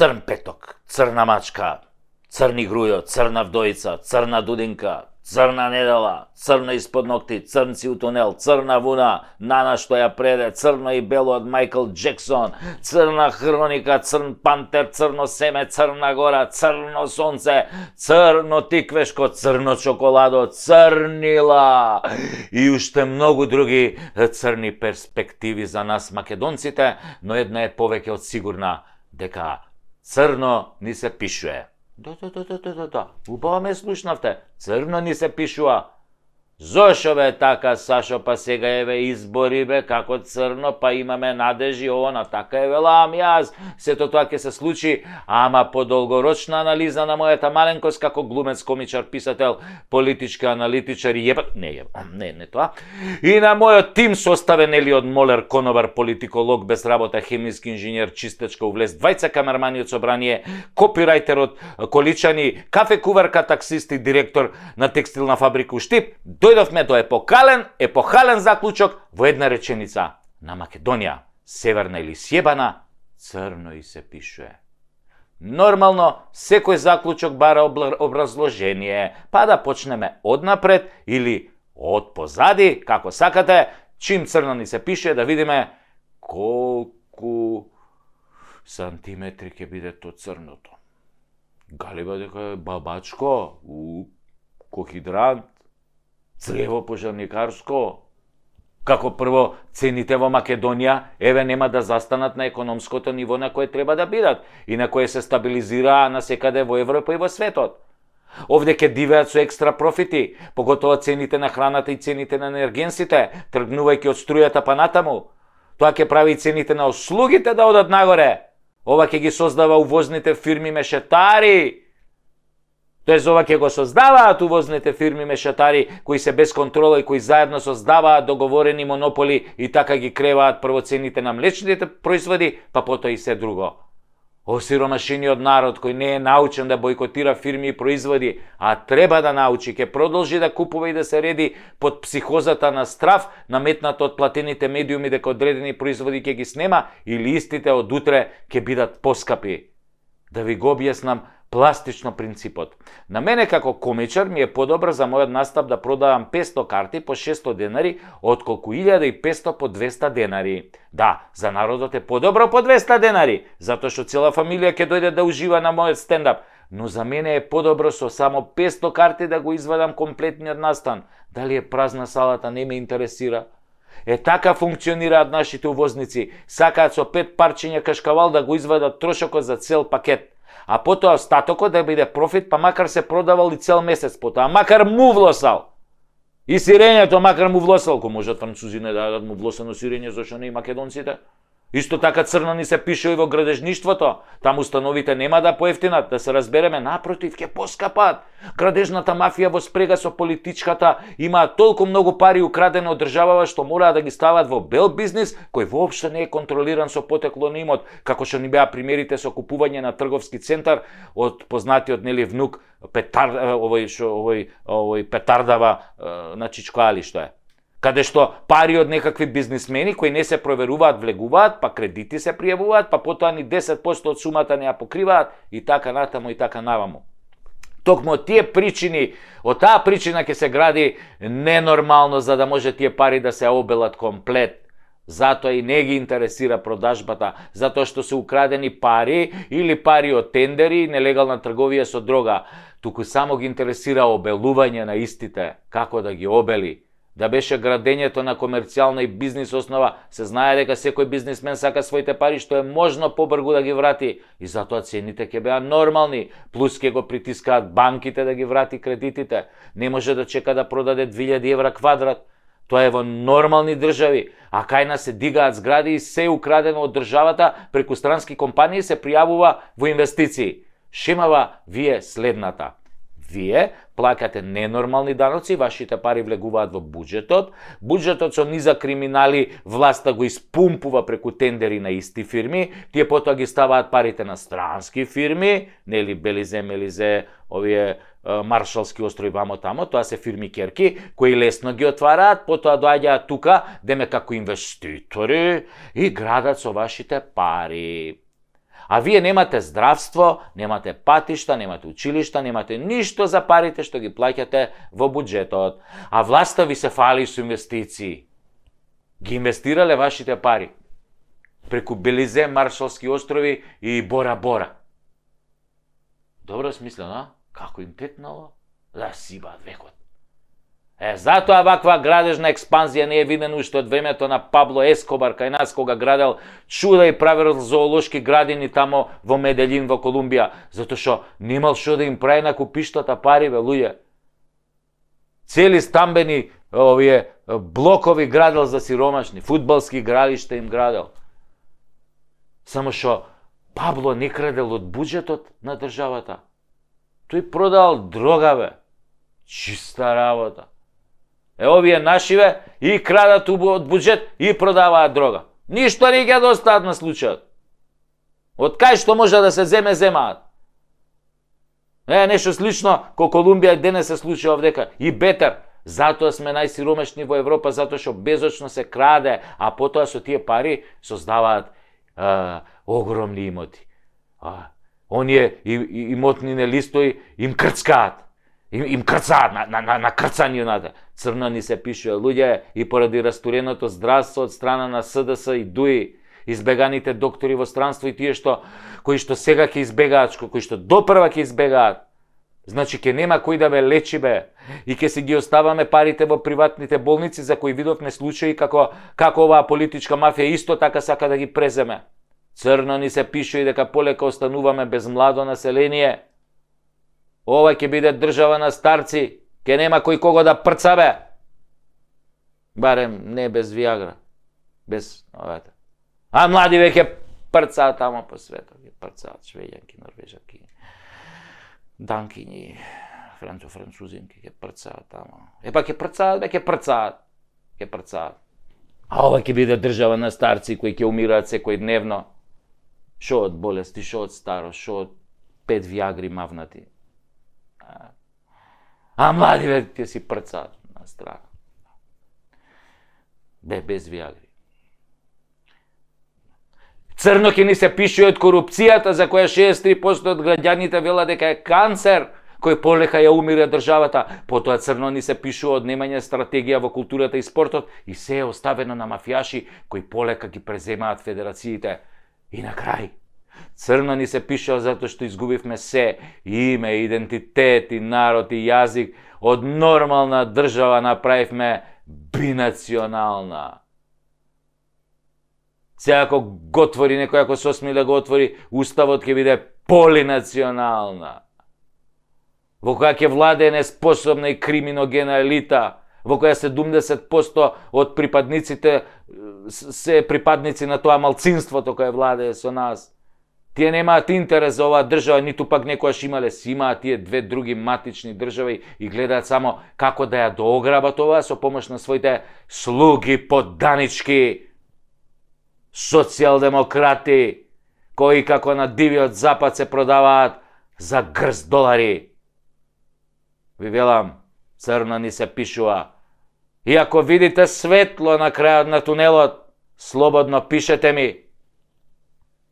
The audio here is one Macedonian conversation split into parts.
Црн петок, црна мачка, црни грујо, црна вдојца, црна дудинка, црна недела, црно испод ногти, црн си у тунел, црна вуна, Нана што ја преде, црно и бело од Майкл Джексон, црна хроника, црн пантер, црно семе, црна гора, црно сонце, црно тиквешко, црно чоколадо, црнила и уште многу други црни перспективи за нас македонците, но една е повеќе од сигурна, дека црно ни се пишува. Да. Убаво ме слушнавте. Црно ни се пишува. Зошо бе така, Сашо, па сега еве избори бе, како црно, па имаме надежи, она, така е велам јас. Сето тоа ќе се случи, ама по долгорочна анализа на мојата маленкост како глумец, комичар, писател, политички аналитичар и не тоа. И на мојот тим составен од молер, конобар, политиколог без работа, хемиски инженер, чистачка, увлез, двајца камермани од собрание, копирајтер од Количани, кафе куварка, таксист и директор на текстилна фабрика у Штип. Дојдовме до епохален заклучок во една реченица. На Македонија, северна или сјебана, црно и се пишува. Нормално, секој заклучок бара образложение, па да почнеме однапред или од позади, како сакате, чим црно ни се пише, да видиме колку сантиметри ќе биде то црното. Галиба дека е бабачко, кохидрант, црево пожарникарско. Како прво, цените во Македонија, еве нема да застанат на економското ниво на кое треба да бидат и на кое се стабилизираа насекаде во Европа и во светот. Овде ќе дивеат со екстра профити, поготово цените на храната и цените на енергенсите, тргнувајќи од струјата па натаму. Тоа ќе прави цените на услугите да одат нагоре. Ова ќе ги создава увозните фирми мешетари. Тоест, ова ќе го создаваат увозните фирми мешетари, кои се без контрола и кои заедно создаваат договорени монополи и така ги креваат прво цените на млечните производи, па потоа и се друго. Осиромашениот народ кој не е научен да бойкотира фирми и производи, а треба да научи, ќе продолжи да купува и да се реди под психозата на страф, наметната од платените медиуми дека одредени производи ќе ги снема или истите од утре ќе бидат поскапи. Да ви го објаснам пластично принципот. На мене како комичар ми е подобро за мојот настап да продавам 500 карти по 600 денари, отколку 1500 по 200 денари. Да, за народот е подобро по 200 денари, затоа што цела фамилија ќе дојде да ужива на мојот стендап. Но за мене е подобро со само 500 карти да го извадам комплетниот настан. Дали е празна салата, не ме интересира. Така функционираат нашите увозници. Сакаат со 5 парчиња кашкавал да го извадат трошокот за цел пакет. А потоа остатокот да биде профит, па макар се продавал и цел месец потоа, макар му влосал. И сирењето макар му влосал, ко можат французите да дадат му влосено сирење, зашто не и македонците. Исто така црно ни се пише и во градежништвото. Таму установите нема да поевтинат, да се разбереме, напротив, ќе поскапат. Градежната мафија во спрега со политичката имаат толку многу пари украдени од државава што мораат да ги стават во бел бизнис, кој воопшто не е контролиран со потекло на имот, како што ни беа примерите со купување на трговски центар од познатиот нели внук овој Петардава на Чичкоали што е. Каде што пари од некакви бизнисмени кои не се проверуваат, влегуваат, па кредити се пријавуваат, па потоа ни 10% од сумата не ја покриваат и така натаму и така наваму. Токму од тие причини, од таа причина ќе се гради ненормално за да може тие пари да се обелат комплет. Затоа и не ги интересира продажбата, затоа што се украдени пари или пари од тендери и нелегална трговија со дрога. Туку само ги интересира обелување на истите, како да ги обели. Да беше градењето на комерцијална и бизнис основа, се знае дека секој бизнисмен сака своите пари што е можно побргу да ги врати и затоа цените ќе беа нормални, плюс ќе го притискаат банките да ги врати кредитите. Не може да чека да продаде 2000 евра квадрат. Тоа е во нормални држави, а кај нас се дигаат згради и се украдено од државата преку странски компании се пријавува во инвестиции. Шемава ви е следната. Вие плаќате ненормални даноци, вашите пари влегуваат во буџетот, буџетот со низа криминали власта го испумпува преку тендери на исти фирми, тие потоа ги ставаат парите на странски фирми, нели Белизе, Мелизе, овие Маршалски острови вамо тамо, тоа се фирми керки, кои лесно ги отвараат, потоа доаѓаат тука, деме како инвеститори и градат со вашите пари. А вие немате здравство, немате патишта, немате училишта, немате ништо за парите што ги плаќате во буџетот. А власта ви се фали со инвестиции. Ги инвестирале вашите пари преку Белизе, Маршалски острови и Бора Бора. Добро смислено, како им текнало? Да сибаат векот. Затоа ваква градежна експанзија не е видена уште од времето на Пабло Ескобар кај нас, кога градел чуда и правил зоолошки градини тамо во Меделин, во Колумбија, затоа што немал што да им прави на купиштата пари, бе, луѓе. Цели стамбени блокови градел за сиромашни, фудбалски игралишта им градел. Само што Пабло не крадел од буџетот на државата. Тој продал дрога, бе. Чиста работа. Овие нашиве и крадат од буџет и продаваат дрога. Ништо не ќе достаат на случајот. Од кај што може да се земаат. Нешто слично ко Колумбија денес се случува овдека. И бетер. Затоа сме најсиромашни во Европа, затоа што безочно се краде, а потоа со тие пари создаваат огромни имоти. Оние имотнини листови им крцкаат. Им крцаат на крцањината. Црно ни се пишува, луѓе, и поради растуреното здравство од страна на СДС и ДУИ, избеганите доктори во странство и тие кои што сега ќе избегаат, кои што допрва ќе избегаат. Значи ќе нема кој да ме лечи, бе, и ќе си ги оставаме парите во приватните болници за кои видовме случаи како оваа политичка мафија исто така сака да ги преземе. Црно ни се пишува и дека полека остануваме без младо население. Ова ќе биде држава на старци, ќе нема кој кого да прца, бе. Барем не без Виагра, без овете. А млади веќе прцаат тамо по светот, ќе прцаат швеѓанки, норвежанки, данкињи, французинки, ќе прцаат тамо. Епа ќе прцаат, бе, ќе прцаат. А ова ќе биде држава на старци кои ќе умираат секој дневно. Шо од болести, шо од старост, шо од 5 Виагри мавнати. А млади ве ќе си прцаат на страна. Без Виагри. Црно ќе ни се пише од корупцијата за која 63% од граѓаните велат дека е канцер, кој полека ја умира државата. Потоа црно ни се пишува од немање стратегија во културата и спортот и се е оставено на мафијаши кои полека ги преземаат федерациите. И на крај, црно ни се пишува затоа што изгубивме се, име, идентитет и народ и јазик, од нормална држава направивме бинационална. Сега ако го отвори некој, ако се осмели да го отвори, уставот ќе биде полинационална. Во која ќе владее неспособна и криминогена елита, во која 70% од припадниците се припадници на тоа малцинството кое владее со нас. Тие немаат интерес за оваа држава, ниту пак некојаш имале, си имаат тие две други матични држави и гледаат само како да ја доограбат оваа со помош на своите слуги подданички, социјалдемократи, кои како на дивиот запад се продаваат за грст долари. Ви велам, црно ни се пишува. И ако видите светло на крајот на тунелот, слободно пишете ми.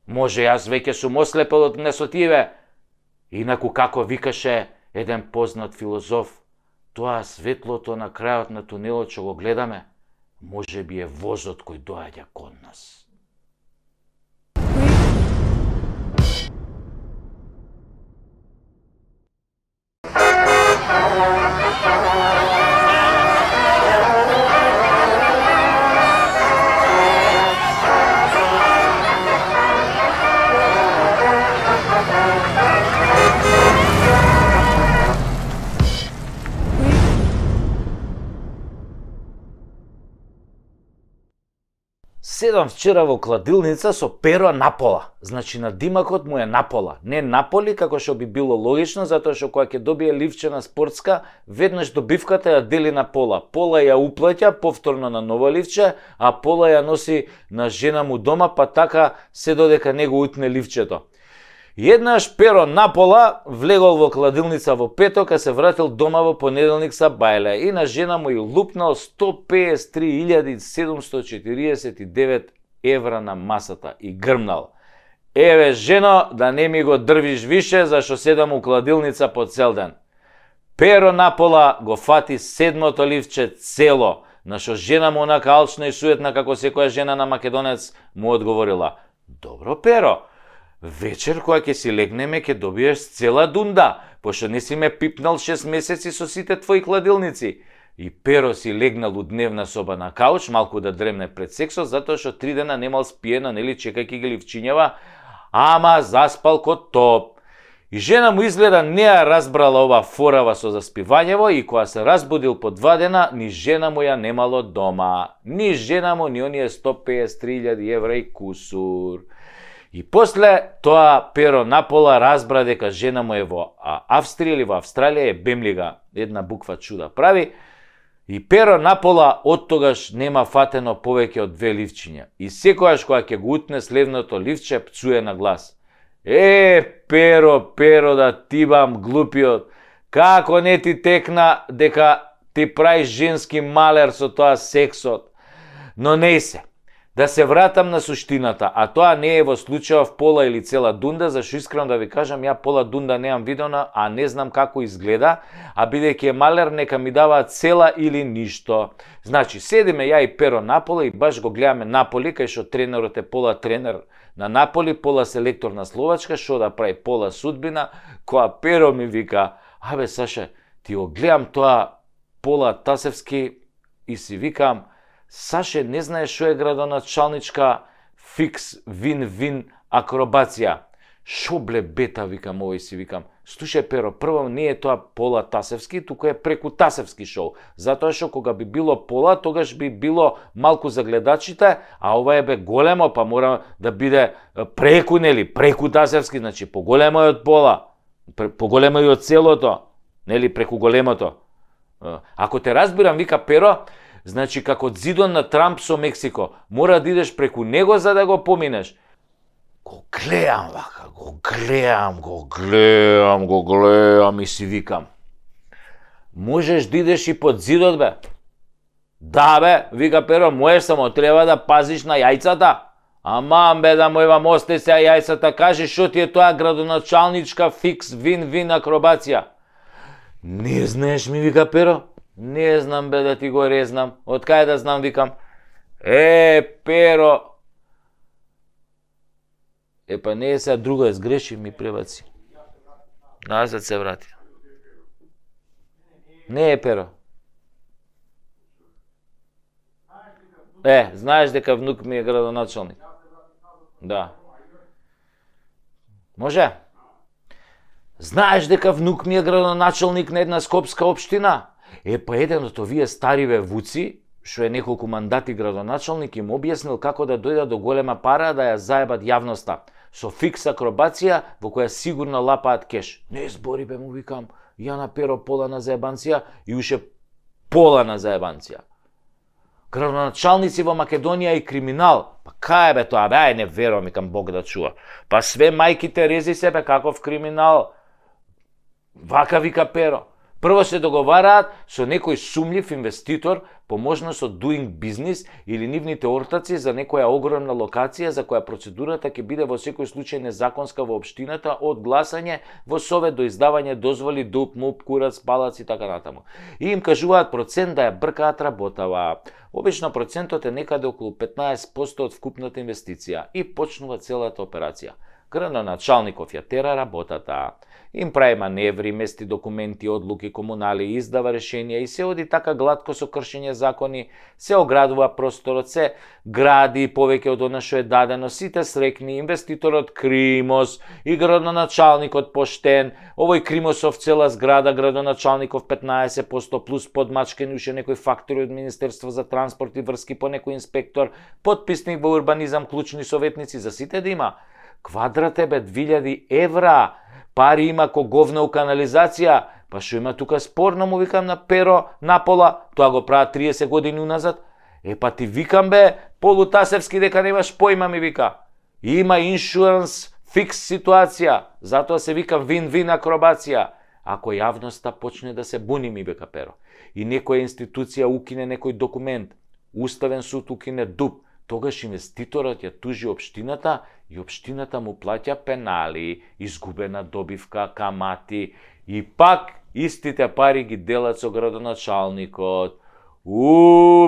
Може јас веќе сум ослепел од несотиве. Инаку како викаше еден познат филозоф, тоа светлото на крајот на тунелот што го гледаме, може би е возот кој доаѓа кон нас. Седам вчера во кладилница со перо напола. Значи на димакот му е напола. Не наполи како што би било логично, затоа што кога ќе добие ливчена спортска, веднаш добивката ја дели на пола. Пола ја уплаќа повторно на ново ливче, а пола ја носи на жена му дома, па така се додека него утне ливчето. Еднаш перо напола влегол во кладилница во петок, а се вратил дома во понеделник са бајле и на жена му ја лупнал 153.749 евра на масата и грмнал. еве жено, да не ми го дрвиш више, зашто седам у кладилница по цел ден. Pero напола го фати седмото ливче цело, на што жена му онака алчна и суетна како секоја жена на Македонец му одговорила: Добро, Pero, вечер кога ќе си легнеме ќе добиеш цела дунда, пошто не си ме пипнал 6 месеци со сите твои кладилници. И Pero си легнал у дневна соба на кауч, малку да дремне пред сексот, затоа што 3 дена немал спиена, нели, чекајќи ги ливчињава, ама заспал ко топ. И жена му изгледа не ја разбрала ова форава со заспивањево и кога се разбудил по 2 дена, ни жена му ја немало дома. Ни жена му, ни оние 153.000 евра и кусур. И после тоа Pero напола разбра дека жена му е во Австрија или во Австралија, е бемлига, една буква чуда прави. И Pero напола од тогаш нема фатено повеќе од 2 ливчиња. И секојаш кога ќе го утне сливното ливче, пцуе на глас: Pero, да ти бам глупиот, како не ти текна дека ти праиш женски малер со тоа сексот. Но не се. Да се вратам на суштината, а тоа не е во случајов пола или цела дунда, зашто искрено да ви кажам, ја пола дунда немам видена, а не знам како изгледа, а бидејќи е малер, нека ми дава цела или ништо. Значи, седиме ја и Pero напола и баш го гледаме Наполи, кај што тренерот е пола тренер на Наполи, пола селектор на Словачка, што да прави пола судбина, која Pero ми вика: Абе, Саше, ти го гледам тоа пола Тасевски и си викам: Саше, не знаеш што е градоначалничка фикс вин-вин акробација. Шо бле бета, викам овој, си викам. Слушај, Pero, прво не е тоа пола Тасевски, туку е преку Тасевски шоу. Затоа што кога би било пола, тогаш би било малку за гледачите, а ова е бе големо, па мора да биде преку, нели, преку Тасевски, значи поголемо е од пола, поголемо е од целото, нели, преку големото. Ако те разбирам, вика Pero, значи како зидон на Трамп со Мексико, мора да идеш преку него за да го поминеш. Го гледам вака, го гледам и си викам: можеш да идеш и под зидот, бе? Да, бе, вика Pero, можеш, само треба да пазиш на јајцата. Аман, бе, да му евам, остај се јајцата, кажи што ти е тоа градоначалничка фикс вин-вин акробација. Не знаеш, ми вика Pero? Не знам, бе, да ти го резнам. Од кај да знам, викам. Pero. Па не е сега друго, е сгреши, ми пребаци. Назад се врати. Не е Pero. Знаеш дека внук ми е градоначалник. Да. Може? Знаеш дека внук ми е градоначалник на една скопска општина? Па еден од овие стариве вуци, што е неколку мандати градоначалник, им објаснил како да дојдат до голема пара да ја заебат јавноста. Со фикс акробација во која сигурно лапаат кеш. Не збори, бе, му викам, ја на Pero пола на заебанција и уште пола на заебанција. Градоначалници во Македонија и криминал. Па кај бе тоа? Бе, не верувам, викам, Бог да чува. Па све мајките рези себе каков криминал. Вака вика Pero. Прво се договараат со некој сумљив инвеститор по можност од doing business или нивните ортаци за некоја огромна локација за која процедурата ќе биде во секој случај незаконска во општината, од гласање во совет до издавање дозволи, дуп, муп, курац, палац и така натаму. И им кажуваат процент да ја бркаат работава. Обично процентот е некаде околу 15% од вкупната инвестиција и почнува целата операција. Градоначалников ја тера работата. Им прави маневри, мести документи, одлуки, комунали, издава решенија и се оди така гладко со кршење закони, се оградува просторот, се гради повеќе од она што е дадено, сите срекни, инвеститорот Кримос и градоначалникот поштен, овој Кримосов цела зграда, градоначалников 15% плюс подмачкени уште некој фактори од Министерство за транспорт и врски по некој инспектор, подписник во урбанизам, клучни советници, за сите да има. Квадрат е бе 2000 евра, пари има ко говна у канализација, па што има тука спорно, му викам на Pero напола, тоа го прават 30 години уназад. Па ти викам, бе, полутасевски дека немаш појма, ми вика. Има иншуранс фикс ситуација, затоа се вика вин-вин акробација. Ако јавноста почне да се буни, ми вика Pero, и некоја институција укине некој документ, Уставен суд укине дуп, тогаш инвеститорот ја тужи општината и општината му плаќа пенали, изгубена добивка, камати и пак истите пари ги делат со градоначалникот.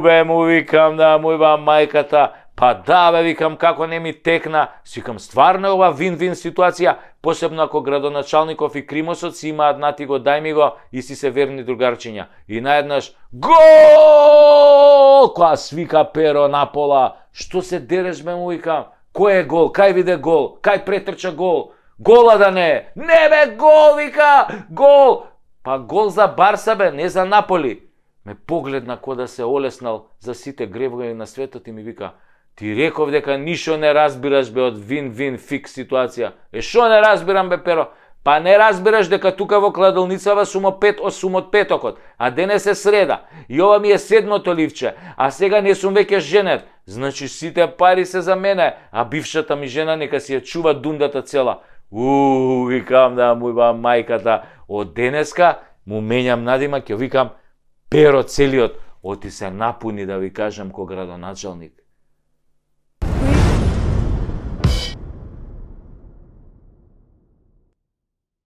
Бе, му викам да му иба мајката, па да бе, викам како не ми текна, викам стварно е ова вин-вин ситуација, посебно ако градоначалников и Кримосот си имаат нати го, дај ми го и си се верни другарчиња. И наеднаш гол! Која свика Перо на пола, што се дереш бе, му викам, кој е гол, кај виде гол, кај претрча гол, гола да не е, не бе гол, вика, гол, па гол за Барса бе, не за Наполи. Ме погледна ко да се олеснал за сите гребови на светот и ми вика, ти реков дека ништо не разбираш бе од вин-вин фикс ситуација. Шо не разбирам бе, Перо? Па не разбираш дека тука во кладилницава сум од петокот, а денес е среда. И ова ми е 7-то ливче, а сега не сум веќе женет. Значи сите пари се за мене, а бившата ми жена нека си ја чува дундата цела. Викам да му иба мајката, од денеска му менјам надимак, ја викам Перо целиот, оти се напуни да ви кажам ко градоначалник.